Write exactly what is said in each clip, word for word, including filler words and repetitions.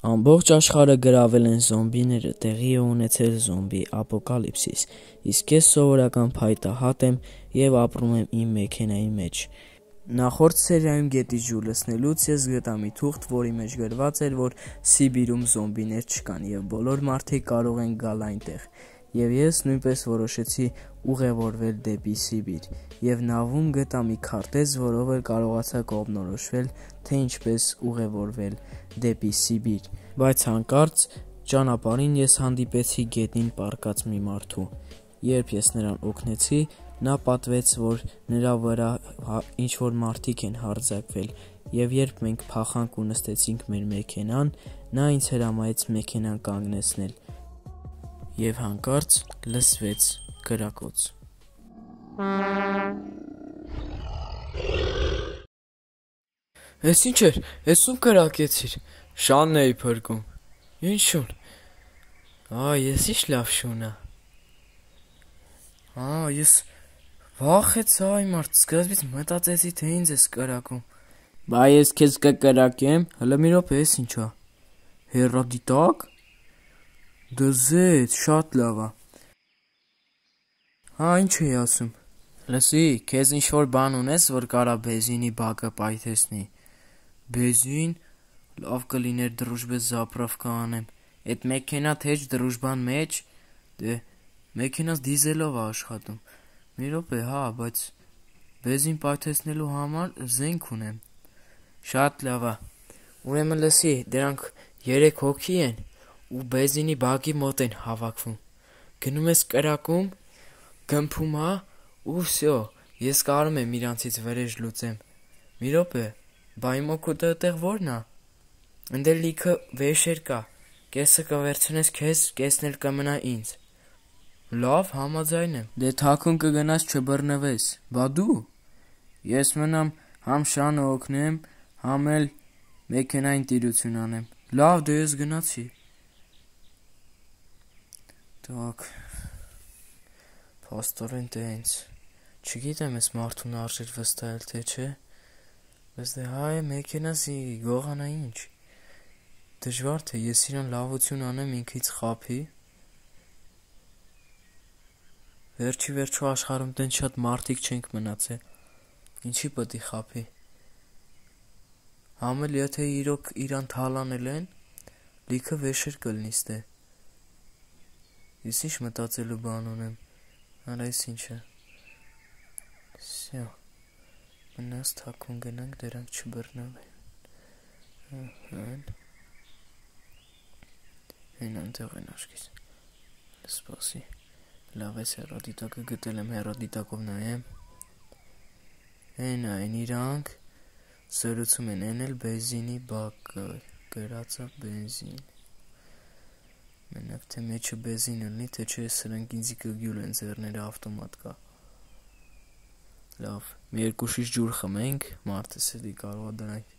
Ամբողջ աշխարհը գրավել են զոմբիները, տեղի է ունեցել զոմբի ապոկալիպսիս, իսկ ես սովորական փայտահատ եմ և ապրում եմ իմ մեքենայի մեջ։ Նախորդ սերիայում գետի ջուր լցնելուց ես գտա մի թուղթ, որի մեջ գրված էր, որ Սիբիրում զոմբիներ չկան և բոլոր մարդիկ կարող են գալ այնտեղ, և ես նույնպես որոշեցի ուղևորվել դեպի Սիբիր, և նավում գտա մի քարտեզ, որով էլ կարողացա կողմնորոշվել, թե ինչպես ուղևորվել դեպի Սիբիր, բայց հանկարծ ճանապարհին ես հանդիպեցի գետին պառկած մի մարդու։ Երբ ես նրան օգնեցի, նա պատվեց, որ նրա վրա ինչ-որ մարդիկ են հարձակվել, և երբ մենք փախանք ու նստեցինք մեր մեքենան, նա ինձ հրամայեց մեքենան կանգնեցնել, և հանկարծ լսվեց կրակոց։ Էս ինչ էր, էս ում կրակեցիր։ Շանն էի փրկում։ Ինչ շուն։ Ա, ես ինչ լավ շուն ա։ Ա, ես վախեցա այ մարդ, սկզբից մտածեցի, թե ինձ ես կրակում։ Բա ես քեզ կկրակեմ, հլը մի րոպե, էս ինչ ա։ Հեռադիտակ։ Դե զեծ, շատ լավ ա։ Հա, ինչ էի ասում։ Լսի, քեզ ինչ-որ բան ունես, որ կարա բենզինի բակը պայթեցնի։ Բենզին, լավ կլիներ դրուժբե զապրավկա անեմ։ Էդ մեքենադ հեչ դրուժբան մեջ, դե մեքենաս դիզելով ա աշխատում։ Մի րոպե, հա, բայց բենզին պայթեցնելու համար զենք ունեմ։ Շատ լավ ա։ Ուրեմն լսի, դրանք երեք հոգի են ու բենզինի բակի մոտ են հավաքվում։ Գնում ես կրակում, գմփում ա, ու վсё, ես կարում եմ իրանցից վրեժ լուծեմ։ Մի րոպե, բա իմ օգուտը այդտեղ ո՞րն ա։ Ընդե լիքը վեշեր կա, կեսը կվերցնես քեզ, կեսն էլ կմնա ինձ։ Լավ, համաձայն եմ։ Դե թաքուն կգնաս չբռնվես։ Բա դու։ Ես մնամ համ Շանը օգնեմ, համ էլ մեքենային տիրություն անեմ։ Լավ, դե ես գնացի։ Так, փաստորեն տենց։ Չգիտեմ ես մարդուն արժեր վստահել, թե չէ։ Բայց դե հայ մեքենասի գողանա ինչ։ Դժվար թե ես իրան լավություն անեմ ինքից խափի։ Վերջի վերջո աշխարհում տենց շատ մարդիկ չենք մնացել։ Ինչի պետք է խափի։ Համ էլ եթե իրոք իրան թալանել են, լիքը վեշեր կլինի ստե։ Ես ինչ մտածելու բան ունեմ։ Արա էս ինչը։ Всё։ Մնաց թաքուն գնանք, դրանք չբռնվեն։ Ահա։ Հեն անտեղ են աշկիս։ Սպասի։ Լավ էս հեռադիտակը գտել եմ, հեռադիտակով նայեմ։ Հեն այն իրանք զրուցում են, են էլ բենզինի բակը, գրածա բենզին։ Մենակ թե մեջը բենզին լինի, թե չէ սրանք ինձի կգյուլ են, ձեռները ավտոմատ կա։ Լավ, մի երկու շիշ ջուր խմենք, մարդս էլի կարող է դրանք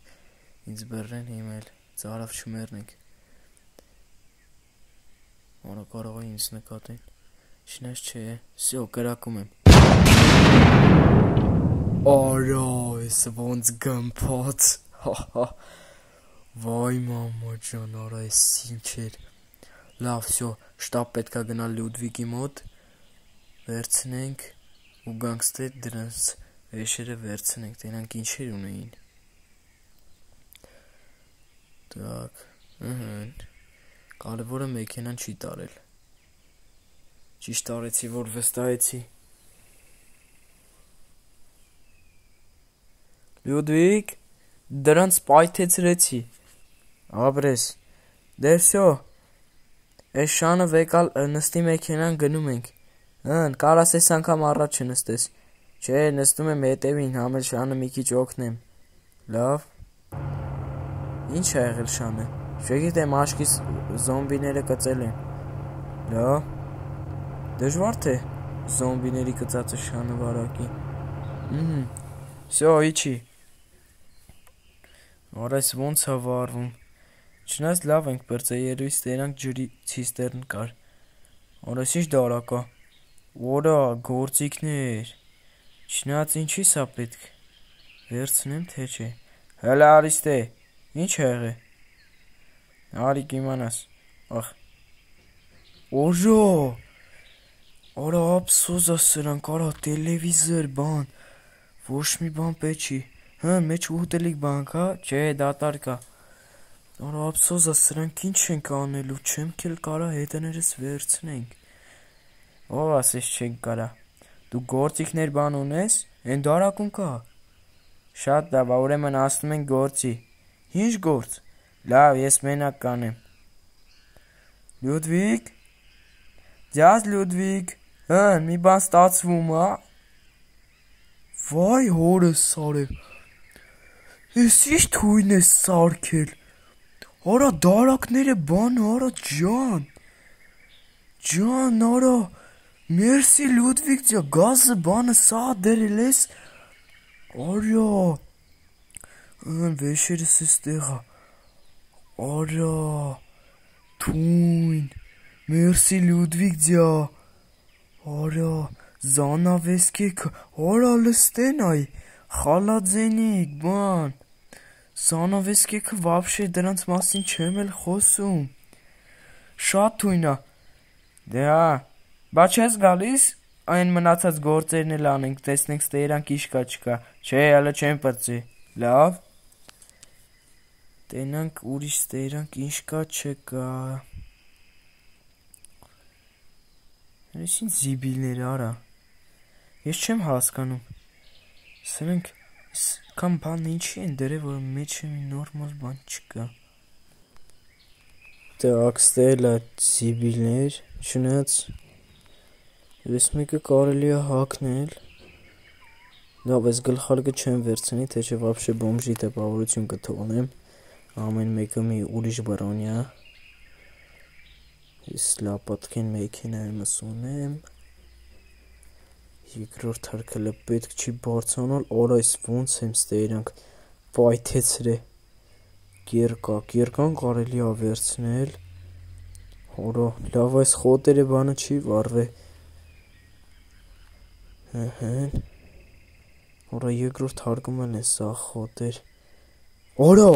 ինձ բռնեն, հիմա էլ ծարավ չմեռնենք։ Որը կարող է ինձ նկատեն։ Չնայած չէ, всё, կրակում եմ։ Արա, էս ոնց գմփած։ Հա։ Վայ մամա ջան, արա էս ինչ էր։ Լավ, всё, շտապ պետքա գնալ Լյուդվիգի մոտ, վերցնենք ու գանք ստե դրանց վեշերը վերցնենք, դրանք ինչեր ունեին։ Так, ըհը։ Կարևորը մեքենան չի տարել։ Ճիշտ արեցի, որ վստահեցի։ Լյուդվիգ, դրանց պայթեցրեցի։ Ապրես։ Դե всё։ Էս Շանը վեկալ նստի մեքենան գնում ենք։ Հն, կարաս էս անգամ առաջ չնստես։ Չէ, նստում եմ հետևին, համ էլ Շանը մի քիչ օգնեմ։ Լավ։ Ինչ ա եղել Շանը։ Չգիտեմ, աշկիս զոմբիները կծել են։ Լավ։ Դժվար թե զոմբիների կծածը Շանը վարակի։ Ահա։ Всё, իջի։ Արա էս ոնց ա վարվում։ Չնայած լավ ենք բրծե, երևի ստերանք ջրի ցիստերն կար։ Արա էս ինչ դարակ ա։ Որա, գործիքներ։ Չնայած ինչի սա պետք։ Վերցնեմ թե չէ։ Հələ արի ստե։ Ինչ ա եղել։ Արի կիմանաս։ Ախ։ Օժո։ Արա ափսոս սրանք, արա տելևիզոր բան։ Ոչ մի բան պետք չի։ Հա, մեջ ուտելիք բան կա, չէ, դատարկ կա։ Արա ափսոս սրանք ինչ ենք անելու, չեմ քել կարա հետներս վերցնենք։ Ով ասես չենք կարա։ Դու գործիքներ բան ունես, այն դարակում կա։ Շատ լավ, ուրեմն ասում ենք գործի։ Ինչ գործ։ Լավ, ես մենակ կանեմ։ Լյուդվիգ։ Ձյազ Լյուդվիգ։ Հա, մի բան ստացվում, հա։ Վայ հորս սարև։ Ես ինչ թույն ես սարքել։ Արա դարակները բան, արա ջան։ Ջան, արա։ Մերսի Լյուդվիգ ջա, գազը բանը սա դերել ես։ Արա։ Ան վեշերս էստեղա։ Արա։ Թույն։ Մերսի Լյուդվիգ ջա։ Արա, զանավեսկեք, արա լստեն այ, խալաձենիք, բան։ Զանավեսկեքը վաբշե դրանց մասին չեմ էլ խոսում։ Շատ թույնա։ Դե հա, բա չես գալիս, այն մնացած գործերն էլ անենք, տեսնենք ստերանք ինչ կա չկա, չէ, հələ չեմ պրծի, լավ։ Տենանք ուրիշ ստերանք ինչ կա չկա։ Այս ինչ զիբիլներ արա։ Ես չեմ հասկանում։ Սրանք կամ բան ինչի են դրել, որ մեջը մի նորմալ բան չկա։ Так, ստելա զիբիլներ, չնայած ես մեկը կարելի է հագնել։ Լավ, ես գլխարկը չեմ վերցնի, թե չէ վաբշե բոմժի տպավորություն կթողնեմ։ Ամեն մեկը մի ուրիշ բրոնյա։ Ես լապատքեն մեքենայումս ունեմ։ Երկրորդ հարկելը պետք չի բարձանալ, օր այս ոնց եմ ստերանք պայթեցրե։ Կերկակ, երկան կարելի է վերցնել։ Հորա, լավ այս խոտերը բանը չի վարվե։ Հըհն։ Օրա երկրորդ հարգումն է սա խոտեր։ Օրա,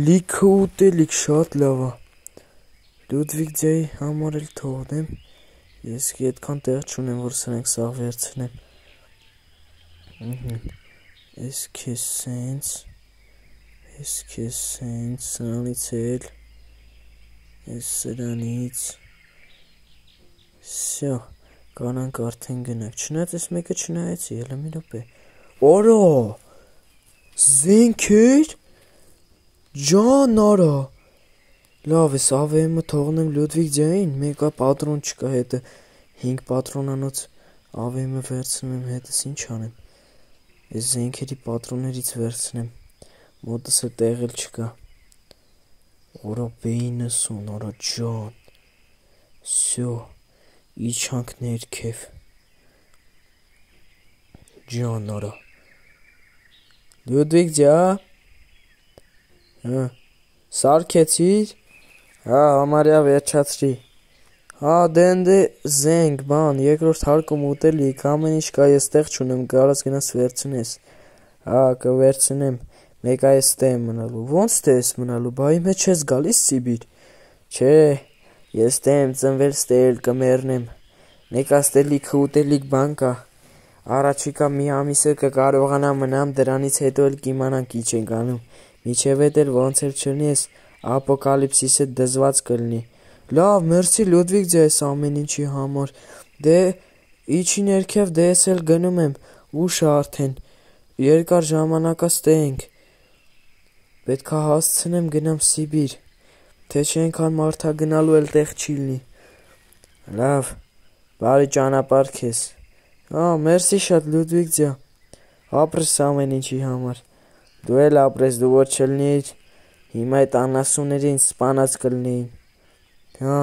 լիքը ուտելիք շատ լավ է։ Լյուդվիգ ջայի համար էլ թողնեմ։ Ես այդքան տեղ չունեմ, որ սրանք սաղ վերցնեմ։ Ես քեզ սենց, ես քեզ սենց, սրանից էլ, ես սրանից, սյո, կանանք արդեն գնանք, չնայած ես մեկը չնայեցի, ելը մի րոպե։ Օրա, զենքեր, ջան արա, լավ ես ավեմը թողնեմ Լյուդվիգ ջային, մեկա պատրոն չկա հետը, հինգ պատրոնանոց ավեմը վերցնում եմ հետս ինչ անեմ, ես զենքերի պատրոններից վերցնեմ, մոտս է տեղել չկա, օրա բեինս ուն, օրա ջան, սյո, իչանք ներքև, ջան արա, Լյուդվիգ ջա, սարքեցիր, հա, համարյա վերջացրի, հա, դենդե զենք, բան, երկրորդ հարկում ուտելիք, ամեն ինչ կա ես տեղ չունեմ, կարաս գնաս վերցնես, հա, կվերցնեմ, մեկա ես տե եմ մնալու, ոնց տե ես մնալու, բա իմ հետ չես գալիս Սիբիր, չէ, ես տե եմ ծնվել ստել կմերնեմ, մեկա ստելիքը ուտելիք բան կա, առաջիկա մի ամիսը կկարողանա մնամ, դրանից հետո էլ կիմանանք ինչ ենք անում, միջև էդ էլ ոնց էլ չլնի ես ապոկալիպսիսը դզված կլնի, լավ, մերսի Լյուդվիգ ջա ես ամեն ինչի համար, դե, իչի ներքև դե ես էլ գնում եմ, ուշ արդեն, երկար ժամանակա ստենք, պետքա հասցնեմ գնամ Սիբիր, թե չենքան մարդա գնալու էլ տեղ չի լնի, լավ, բարի ճանապարհ քեզ, հա, մերսի շատ Լյուդվիգ ջա, ապրես ամեն ինչի համար, դու էլ ապրես, դու որ չլնիր, հիմա այդ անասուներին սպանած կլնեին, հա,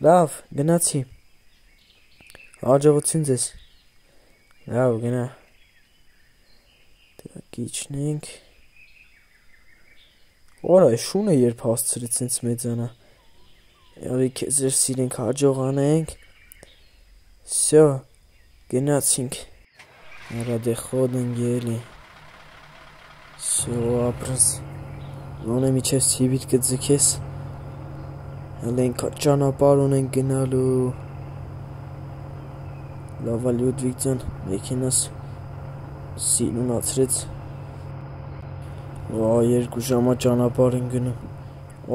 լավ, գնացի, հաջողություն ձեզ, լավ, գնա, տակ իչնենք, օր այ շունը երբ հասցրեց ինձ մեծանա, յարի կեզ էր սիրենք հաջողանենք, սյո, գնացինք, նրա դե խոդ են գելի, սյո ապրս, Ոնե միջև ցիվիլ կձգես։ Հենց ճանապարհ ունենք գնալու։ Լավա Լյուդվիգ ջան, մեքենաս սիրունացրեց։ Ա երկու ժամա ճանապարհ են գնում։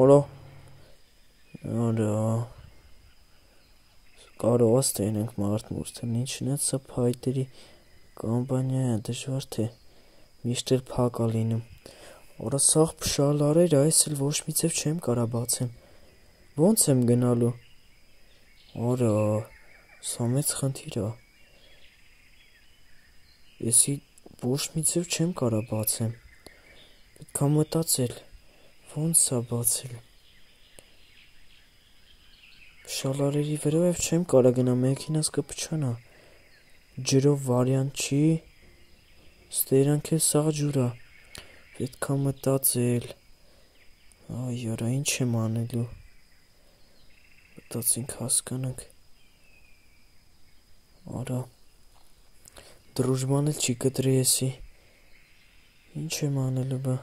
Օրա։ Արա։ Կարող է ստենենք մարդ մուրթն ինչն է սա փայտերի կամպանիա է դժվար թե միշտ էլ փակ է լինում։ Օրա սաղ փշալարեր այս էլ ոչ միցև չեմ կարա բացեմ։ Ոնց եմ գնալու։ Օրա սա մեծ խնդիր է։ Եսի ոչ միցև չեմ կարա բացեմ։ Պետք է մտածել։ Ոնց է բացել։ Շալարերի վրայով չեմ կարա գնա մեքենաս կփչանա։ Ջրով վարիանտ չի։ Ստերանք էլ սաղ ջուր է։ Պետք է մտածել։ Այ արա ինչ եմ անելու։ Մտածենք հասկանանք։ Արա Դրուժման էլ չի կտրի եսի։ Ինչ եմ անելու բա։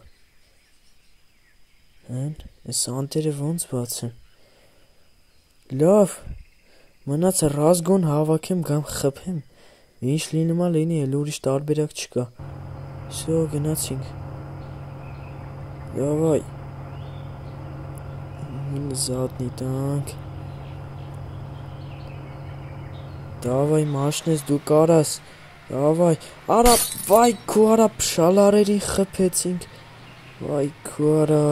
Հեն, ես անտերը ոնց բացեմ։ Լավ, մնացը ռազգոն հավաքեմ գամ խփեմ, ինչ լինում է լինի, էլ ուրիշ տարբերակ չկա։ Всё, գնացինք։ Давай։ Задний танк։ Давай, մաշնես դու կարաս։ Давай։ Արա, վայ քու արա փշալարերին խփեցինք։ Վայ քու արա։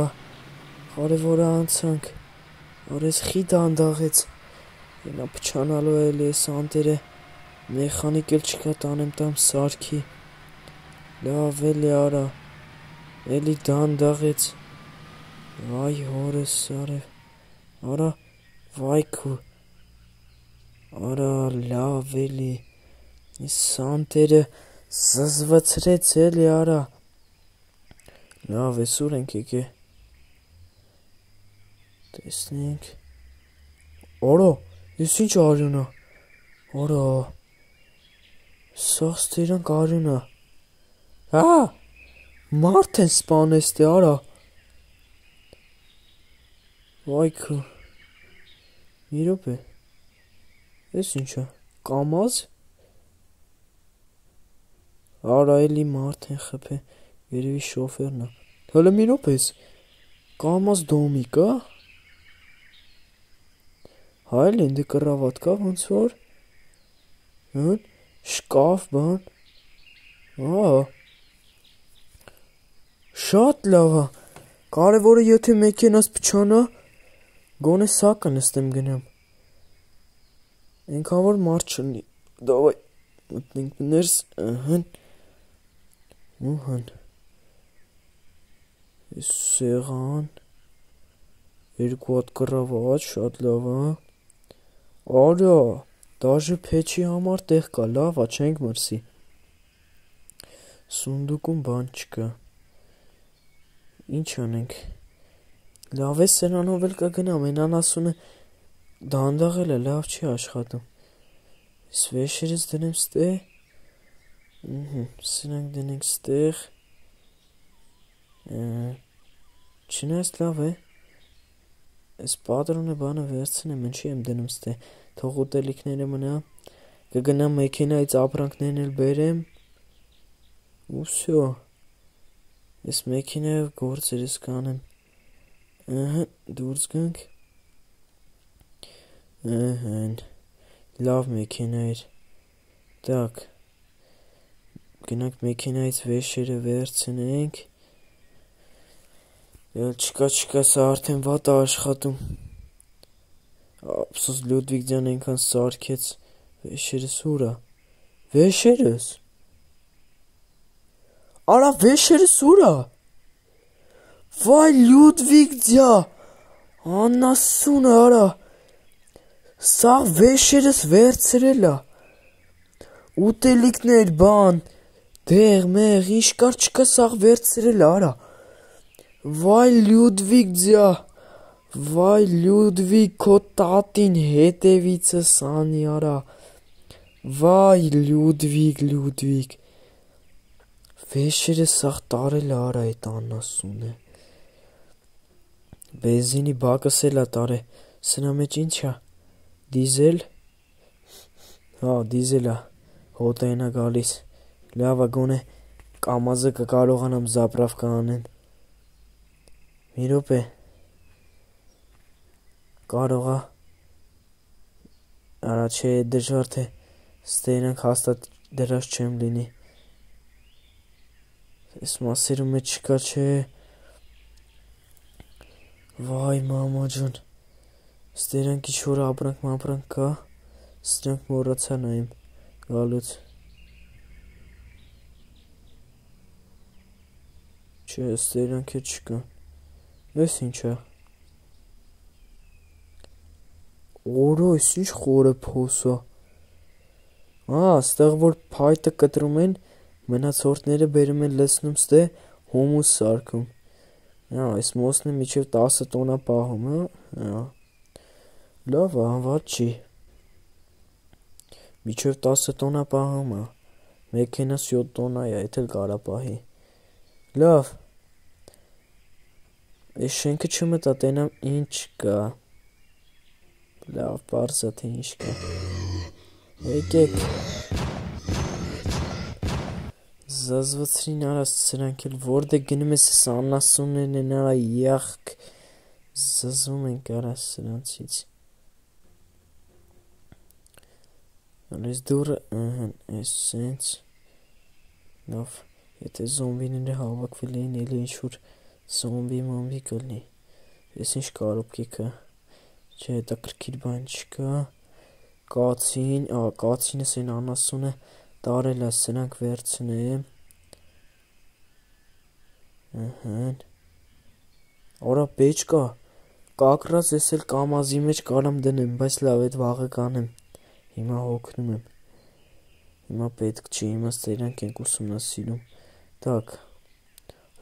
Կարևոր անցանք։ Արես խի դանդաղեց։ Նա փչանալու է էլի էս անտերը։ Մեխանիկ էլ չկա տանեմ տամ սարքի։ Լավ էլի արա։ Էլի դանդաղեց։ Վայ հորս արև։ Արա վայ քու։ Արա լավ էլի։ Այս անտերը զզվացրեց էլի արա։ Լավ էս ուր ենք եկե։ Տեսնենք։ Օրա, ես ինչ արյուն է։ Օրա։ Սաղ ստերանք արյուն է։ Հա, մարդ են սպանես տե արա։ Վայ քու։ Մի րոպե։ Ես ինչ է, կամազ։ Արա էլի մարդ են խփե, երևի շոֆերն է։ Հələ մի րոպե, կամազ դոմիկ է։ Հայլենդը կռավատ կա ոնց որ։ Հն, շկաֆ բան։ Ա։ Շատ լավ է։ Կարևորը եթե մեքենաս փչանա, գոնե սա կնստեմ գնամ։ Այնքան որ մարդ չլինի։ Դավայ մտնենք ներս, ըհն։ Ուհն։ Այս սեղան։ Երկու հատ կռավատ, շատ լավ է։ Արա, դաժե փեչի համար տեղ կա, լավ է, չենք մրսի։ Սունդուկում բան չկա։ Ինչ անենք։ Լավ է սրանով էլ կգնամ, են անասունը դանդաղել է, լավ չի աշխատում։ Այս վեշերս դնեմ ստե։ Սրանք դնենք ստեղ։ Չնայած լավ է։ Այս պատրոնը բանը վերցնեմ, ինչի եմ դնում ստե, թող ուտելիքները մնա, կգնամ մեքենայից ապրանքներն էլ բերեմ, ու всё, այս մեքենայով գործերս կանեմ, ըհը, դուրս գանք, ըհն, լավ մեքենա էր, տակ, գնանք մեքենայից վեշերը վերցնենք, Էլ չկա չկա սա արդեն վատ է աշխատում։ Ափսոս Լյուդվիգ ջան այնքան սարքեց։ Վեշերս ուր է։ Վեշերս։ Արա վեշերս ուր է։ Վայ Լյուդվիգ ջան։ Անասունը արա։ Սա վեշերս վերցրել է։ Ուտելիքներ բան։ Դեղ մեղ ինչ կար չկա սա վերցրել է արա։ Վայ Լյուդվիգ ջա, վայ Լյուդվիգ քո տատին հետևիցս անի արա, վայ Լյուդվիգ, Լյուդվիգ, վեշերը սաղ տարել արա էտ անասունը, Բենզինի բակս էլ է տարե։ Սրա մեջ ինչ է։ Դիզել։ Հա, դիզել է։ Հոտային է գալիս։ Լավ է, գոնե կամազը կկարողանամ զապրավկա անեմ։ Մի րոպե։ Կարող է։ Արա չէ, դժվար թե ստերանք հաստատ դրած չեմ լինի։ Այս մասերում մեջ չկա, չէ։ Վայ, մամա ջան։ Ստերանք ինչ-որ ապրանք մապրանք կա։ Ստրանք մոռացա նայեմ գալուց։ Չէ, ստերանք է չկա։ Ես ինչ է։ Օրո, ես ինչ խորը փոսա։ Ա, ստեղ որ փայտը կտրում են, մնացորդները բերում են լցնում ստե հումուս սարքում։ Հա, այս մոսնը միջև տասը տոննա պահում, հա։ Լավ է, անվատ չի։ Միջև տասը տոննա պահում է։ Մեքենաս յոթ տոննա է, էդ էլ կարա պահի։ Լավ։ Այս շենքը չմտա, տենամ ինչ կա։ Լավ, պարզ է թե ինչ կա։ Եկեք։ Զազվացրին արա սրանք էլ որտե գնում ես այս անասուններն են արա յախք զզվում ենք արա սրանցից։ Այս դուրը ըհն այս սենց լավ եթե զոմբիները հավաքվել էին էլի ինչ-որ զոմբի մոմբի կլնի։ Ես ինչ կարոպկի կա։ Չէ, հետաքրքիր բան չկա։ Կացին, ա, կացինս են անասունը տարել է սրանք վերցնեմ։ Ըհն։ Արա պեջ կա։ Կակրած ես էլ կամազի մեջ կարամ դնեմ, բայց լավ էդ վաղը կանեմ։ Հիմա հոգնում եմ։ Հիմա պետք չի, հիմա ստերանք ենք ուսումնասիրում։ Так։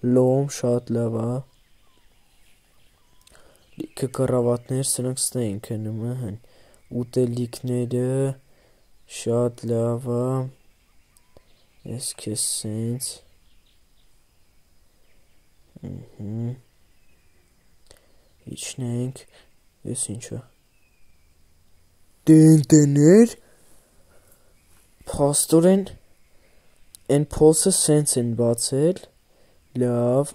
Լոմ շատ լավ է։ Լիքը կռավատներ, սրանք ստե են քնում, ըհն։ Ուտելիքները շատ լավ է։ Ես քեզ սենց։ Ըհն։ Իջնենք։ Ես ինչ է։ Տենտեներ։ Փաստորեն են փոսը սենց են բացել։ Լավ։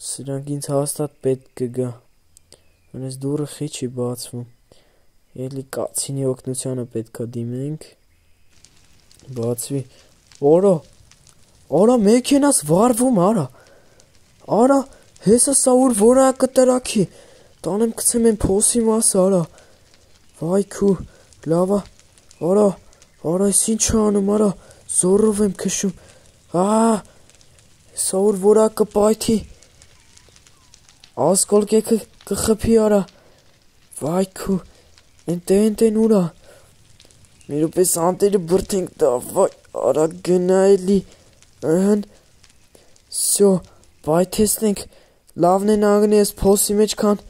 Սրանք ինձ հաստատ պետք կգա։ Այս դուրը խի չի բացվում։ Էլի կացինի օգնությանը պետք է դիմենք։ Բացվի։ Օրա։ Արա մեքենաս վարվում արա։ Արա, հեսա սա ուր որա կտրակի։ Տանեմ գցեմ են փոսի մասը արա։ Վայ քու, լավա։ Արա, արա, ես ինչ անում արա։ Զորով եմ քշում։ Ա, սա ուր որա կպայթի։ Ասկոլկեքը կխփի արա։ Վայ քու, ընտեն ուրա։ Մի րոպե սանտերը բրթենք դա, վայ, արա գնա էլի։ Ըհն։ Սյո, պայթեցնենք, լավն են անգնի ես փոսի մեջ կան,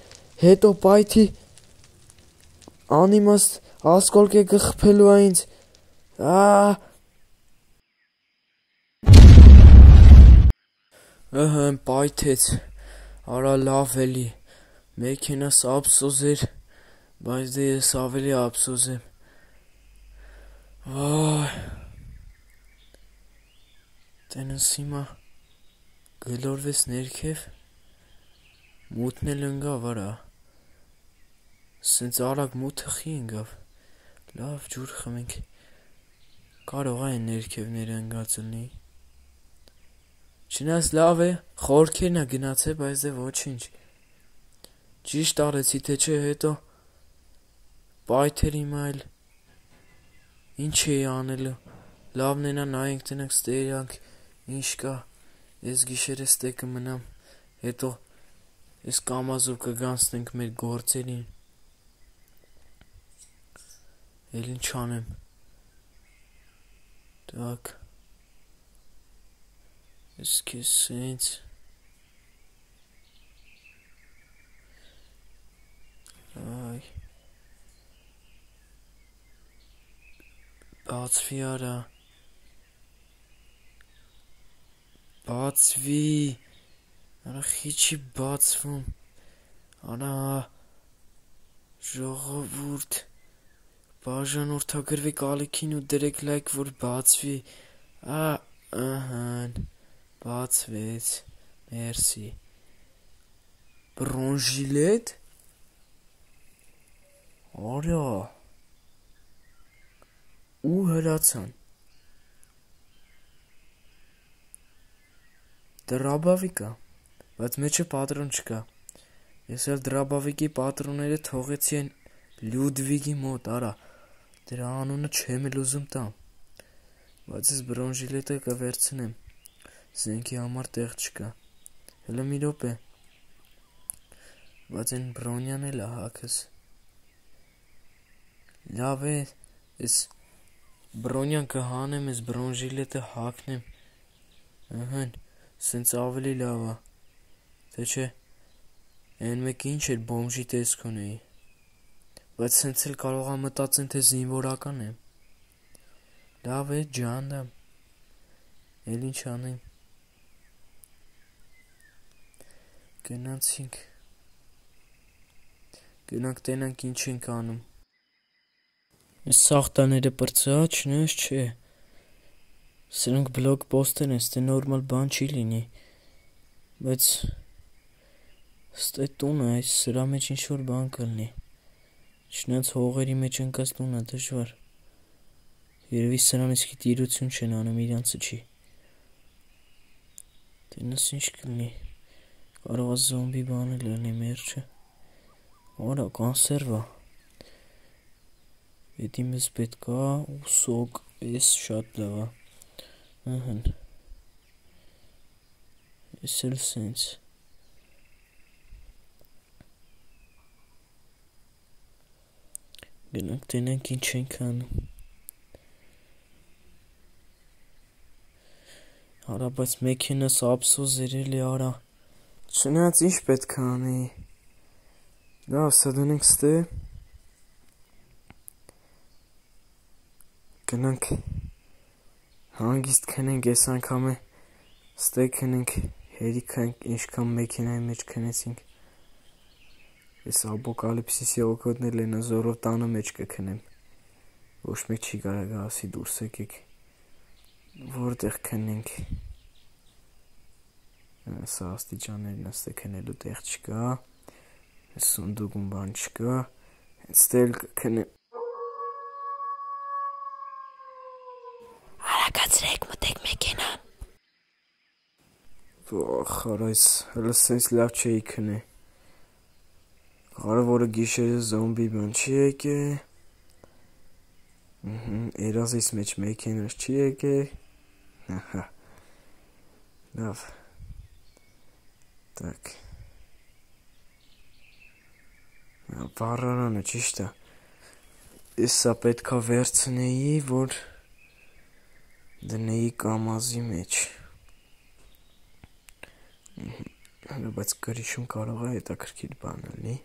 հետո պայթի, անիմաստ ասկոլկե կխպելու է ինձ, ա Ըհն, պայթեց, արա լավ էլի, մեքենաս ափսոս էր, բայց դե ես ավելի ափսոս եմ, վայ, տենս հիմա գլորվես ներքև, մութն էլ ընգավ արա, սենց արագ մութը խի ընգավ, լավ ջուր խմենք, կարող այն ներքևները ընգացլնի, չնայած լավ է, խորքերն է գնացե, բայց դե ոչինչ, ճիշտ արեցի թե չէ հետո, պայթեր հիմա էլ, ինչ էի անելու, լավն ենա նայենք տնենք ստերանք, ինչ կա, ես գիշերը ստե կմնամ, հետո ես կամազով կգանցնենք մեր գործերին, էլ ինչ անեմ, տակ, ես կեզ սենց, այ, բացվի արա, բացվի, Արա խիչի բացվում։ Արա ժողովուրդ բաժանորդագրվի ալիքին ու դրեք լայք, որ բացվի։ Ա ըհն բացվեց։ Մերսի։ Բրոնժիլետ։ Արա ու հրացան։ Դրաբավիկա, բայց մեջը պատրոն չկա։ Ես էլ դրաբավիկի պատրոնները թողեցի են Լյուդվիգի մոտ, արա, դրա անունը չեմ էլ ուզում տամ, բայց ես բրոնժիլետը կվերցնեմ, զենքի համար տեղ չկա, հլը մի րոպե, բայց են բրոնյան էլ է հակս, լավ է, ես բրոնյան կհանեմ, ես բրոնժիլետը հակնեմ, ըհն, սենց ավելի լավ է, թե չէ, են մեկ ինչ էր բոմժի տեսք ունեի, բայց սենց էլ կարող է մտածեն, թե զինվորական եմ, լավ է, ջանդամ, էլ ինչ անեմ, գնացինք, գնանք տենանք ինչ ենք անում, ես սաղտաները պրծա, չնես չէ, սրանք բլոգ պոստեր են, ստե նորմալ բան չի լինի, բայց ստե տունը այս սրա մեջ ինչ-որ բան կլնի, չնայած հողերի մեջ ընկած տունը դժվար, երևի սրան իսկի տիրություն չեն անում իրանցը չի, տենաս ինչ կլնի, կարող է զոմբի բան էլ լինի մերջը, արա կանսերվա, էդի մեզ պետք է ու սոկ, ես շատ լավ է, ըհն, ես էլ սենց, գնանք տենանք ինչ ենք անում, արա բայց մեքենաս ափսոս երել է արա, չնայած ինչ պետք է անի, լավ սա դնենք ստե, գնանք հանգիստ քնենք ես անգամ է ստե քնենք հերիքա ինչքան մեքենայի մեջ քնեցինք ես ապոկալիպսիսի օգոտներ լենա զորով տանը մեջ կքնեմ ոչ մեկ չի կարող ասի դուրս եկեք որտեղ քնենք սա աստիճաններն ստե քնելու տեղ չկա սունդուկում բան չկա հենց ստել քնեմ Արագացրեք մտեք մեքենան Խարայս հələ սենց լավ չէի քնե Կարևորը գիշերը զոմբի բան չի եկե Երազիս մեջ մեքենաս չի եկե Լավ Так Վառարանը ճիշտ է Ես սա պետքա վերցնեի, որ դնեի կամազի մեջ բայց գրիշում կարող է հետաքրքիր բան լինի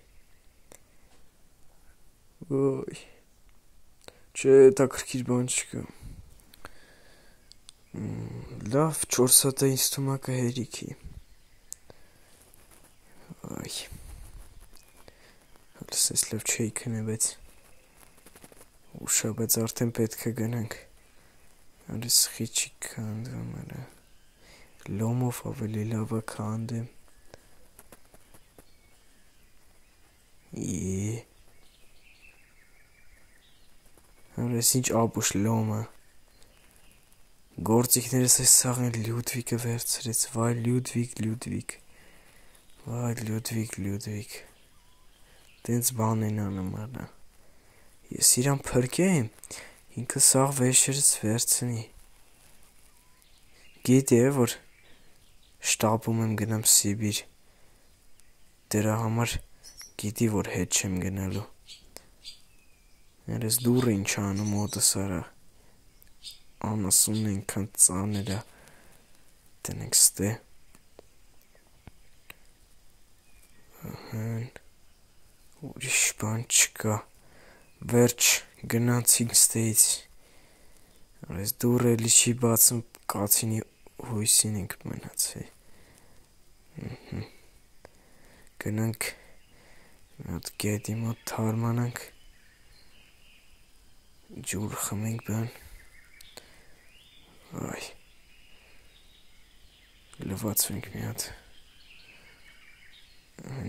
ոյ չէ հետաքրքիր բան չկա լավ չորս հատը ինձ թվում է կհերիքի այ հլսես լավ չէի քնե բայց ուշա բայց արդեն պետք է գնանք արես խիչի քանդում արա լոմով ավելի լավ է քանդեմ Եee Արես ինչ ապուշ լոմը Գործիքներս այս սաղեն Լյուդվիկը վերցրեց Վայ Լյուդվիկ, Լյուդվիկ Վայ Լյուդվիկ, Լյուդվիկ Տենց բան են անում արա Ես իրան փրկեմ Ինքը սաղ վեշերս վերցնի Գիտի է, որ շտապում եմ գնամ Սիբիր Դրա համար գիտի, որ հետ չեմ գնալու Երես դուրը ինչ անում ոտս արա Անասունն ենքան ծաներ է Տնենք ստե Ահեն Ուրիշ բան չկա Վերջ գնացինք ստեից Երես դուրը էլի չի բացում Կացինի հույսին ենք մնացի Գնանք մի հատ գետի մոտ թարմանանք, ջուր խմենք բան, այ, լվացվենք մի հատ,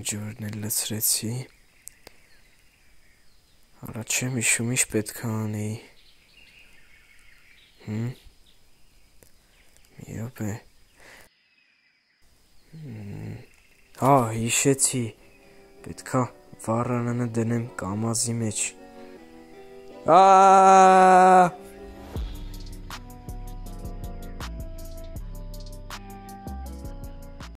ջուրն էլ լցրեցի, արա չեմ իշում ինչ պետք է անեի, հմ, մի րոպե, հա, հիշեցի, պետք է վառարանը դնեմ կամազի մեջ, Ա